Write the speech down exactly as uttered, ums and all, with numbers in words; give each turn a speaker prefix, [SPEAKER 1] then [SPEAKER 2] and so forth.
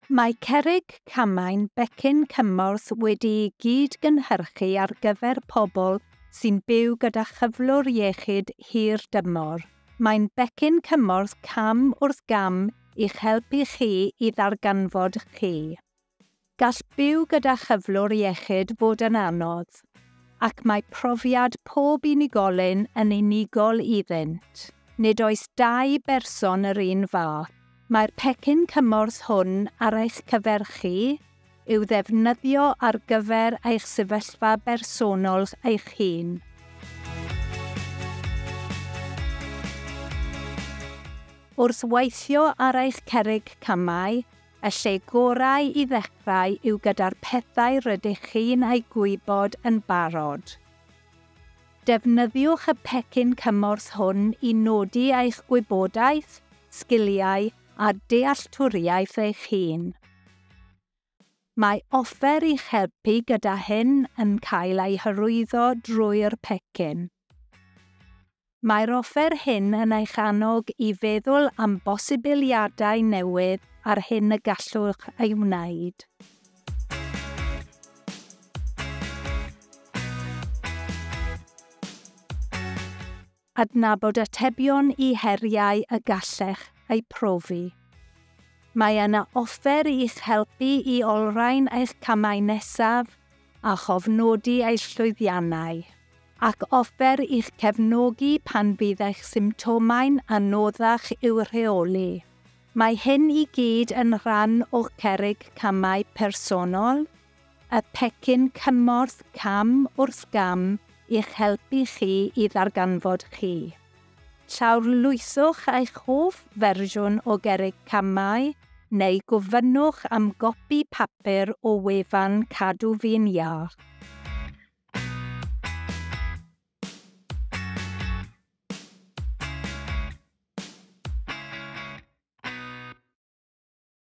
[SPEAKER 1] Mae Cerrig Camau'n becyn cymorth wedi'i gyd-gynhyrchu ar gyfer pobl sy'n byw gyda chyflwr iechyd hir dymor. Mae'n becyn cymorth cam wrth gam i'ch helpu chi i ddarganfod chi. Gall byw gyda chyflwr iechyd fod yn anodd, ac mae profiad pob unigolyn yn unigol iddynt. Nid oes dau berson yr un fath. Mae'r pecyn cymorth hwn ar eich cyfer chi i'w ddefnyddio ar gyfer eich sefyllfa bersonol eich hun. Wrth weithio ar eich cerrig camau, y lle gorau i ddechrau yw gyda'r pethau rydych chi'n eu gwybod yn barod. Defnyddiwch y pecyn cymorth hwn i nodi eich gwybodaeth, sgiliau a dealltwriaeth eich hun. Mae offer i'ch helpu gyda hyn yn cael ei hyrwyddo drwy'r pecyn. Mae'r offer hyn yn eich annog i feddwl am bosibiliadau newydd a'r hyn y gallwch ei wneud. Adnabod atebion i heriau y gallech eu profi. Mae yna offer i'ch helpu i olrhain eich camau nesaf a chofnodi eich llwyddiannau, ac offer i'ch cefnogi pan fydd eich symptomau'n anoddach i'w rheoli. Mae hyn i gyd yn rhan o'ch cerrig camau personol, y pecyn cymorth cam wrth gam i'ch helpu chi i ddarganfod chi. Llawrlwythwch eich hoff fersiwn o gerrig camau neu gofynnwch am gopi papur o wefan Cadw Fi'n Iach.